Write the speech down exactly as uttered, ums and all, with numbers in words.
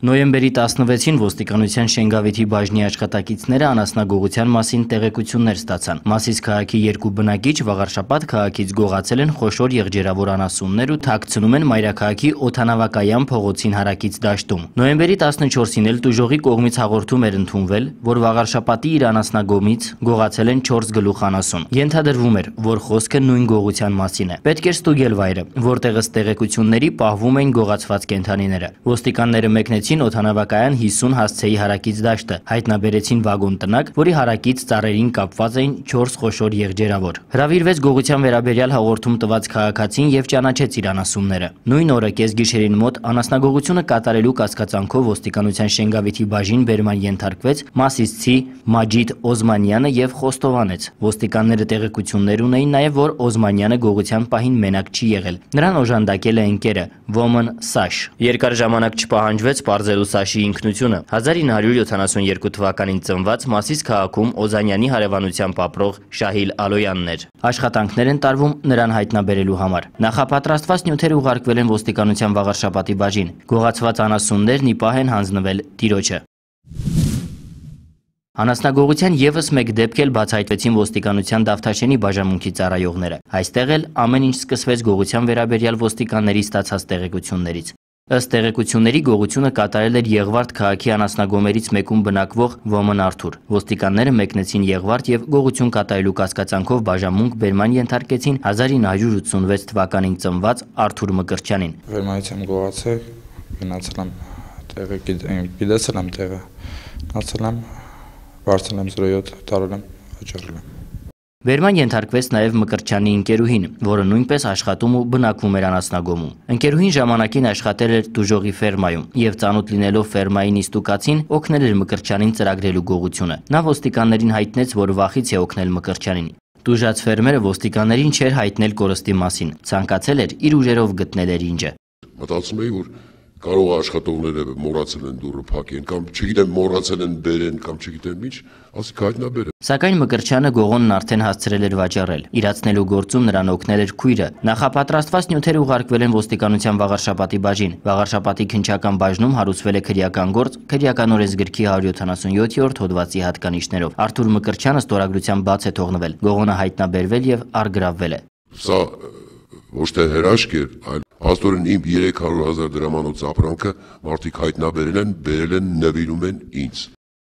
Նոյեմբերի տասնվեցին ոստիկանության Շենգավիթի բաժնի աշխատակիցները անասնագողության մասին տեղեկություններ ստացան։ Մասիս քաղաքի երկու բնակիչ Վաղարշապատ քաղաքից գողացել են խոշոր եղջերավոր անասուններ ու թաքցնում են մայրաքաղաքի օդանավակայան փողոցին հարակից դաշտում։ Նոյեմբերի տասնչորսին էլ տուժողի կողմից հաղորդում էր ընդունվել, որ Վաղարշապատի իր անասնագոմից գողացել են չորս գլուխ անասուն։ Ենթադրվում էր, որ խոսքը նույն գողության մասին է։ Պետք էր ստուգել վայրը, որտեղ ըստ տեղեկությունների պահվում էին գողացված կենդանիները։ Ոստիկանները մեկնեցին օդանավակայան հիսուն հասցեի հարակից դաշտը, հայտնաբերեցին վագոն տնակ, որի հարակից ծառերին կապված էին չորս խոշոր եղջերավոր։ Հրավիրվեց գողության վերաբերյալ հաղորդում տված քաղաքացին եւ ճանաչեց իր անասունները։ Նույն օրը կեսգիշերին մոտ անասնագողությունը կատարելու կասկածանքով ոստիկանության Շենգավիթի բաժին բերման ենթարկվեց Մասիսցի Մաջիդ Օզմանյանը եւ խոստովանեց։ Ոստիկանները տեղեկություններ ունեին նաեւ, որ Օզմանյանը գողության պահին մենակ չի եղել։ Նրան օժանդակել է ընկերը Ոմն Սաշ։ Երկար ժամանակ չպահանջվեց պարզելու Սաշի ինքնությունը։ հազար ինը հարյուր յոթանասունյերկու թվականին ծնված Մասիս քաղաքում Օզանյանի հարևանությամբ ապրող Շահիլ Ալոյանն էր։ Աշխատանքներ են տարվում նրան հայտնաբերելու համար։ Նախապատրաստված նյութերը ուղարկվել են ոստիկանության Վաղարշապատի բաժին։ Գողացված անասուններն ի պահ են հանձնվել տիրոջը։ Անասնագողության եւս մեկ դեպք էլ բացահայտվեցին ոստիկանության Դավթաշենի բաժանմունքի ծառայողները։ Այստեղ էլ ամեն ինչ սկսվեց գողության վերաբերյալ ոստիկանների ստացած տեղեկություններից։ Ըստ տեղեկությունների գողությունը կատարել էր Եղվարդ քաղաքի անասնագոմերից մեկում բնակվող Ոմն Արթուր։ Ոստիկանները մեկնեցին Եղվարդ եւ գողություն կատարելու կասկածանքով բաժանմունք բերման ենթարկեցին հազար ինը հարյուր ութսունվեց թվականին ծնված Արթուր Մկրտչյանին։ Վերմայից եմ գողացել, գնացել եմ տեղը, գիտեցել եմ տեղը, գնացել եմ վարձել եմ զրո յոթ, տարել եմ, վճարել եմ։ Վերման ենթարկվեց նաև Մկրտչյանի ընկերուհին, որը նույնպես աշխատում ու բնակվում էր անասնագոմում։ Ընկերուհին ժամանակին աշխատել էր տուժողի ֆերմայում եւ ծանոթ լինելով ֆերմայի նիստուկացին օգնել էր Մկրտչյանին ծրագրելու գողությունը։ Նա ոստիկաններին հայտնեց, որ վախից է օգնել Մկրտչյանին։ Տուժած ֆերմերը ոստիկաններին չէր հայտնել կորստի մասին, ցանկացել էր իր ուժերով գտնել էր ինջը։ Մտածում էի, որ կարող աշխատողները մոռացել են դուռը փակեն կամ չգիտեմ մոռացել են բերեն կամ չգիտեմ ինչ, ասիկ հայտնաբերեն։ Սակայն Մկրտչյանը գողոնն արդեն հասցրել էր վաճառել։ Իրացնելու գործում նրան օգնել էր քույրը։ Նախապատրաստված նյութերը ուղարկվել են ոստիկանության Վաղարշապատի բաժին։ Վաղարշապատի քննչական բաժնում հարուցվել է քրեական գործ քրեական օրենսգրքի հարյուր յոթանասունյոթ հոդվածի հատկանիշներով։ Արթուր Մկրտչյանը ստորագրությամբ բաց է թողնվել։ Գողոնը հայտնաբերվել եւ առգրավվել է։ Սա ոչ թե հրաշք էր, այլ աստորեն իմ երեք հարյուր հազար դրամանոց ապրանքը մարդիկ հայտնաբերել են, բերել են, նվիրում են ինձ։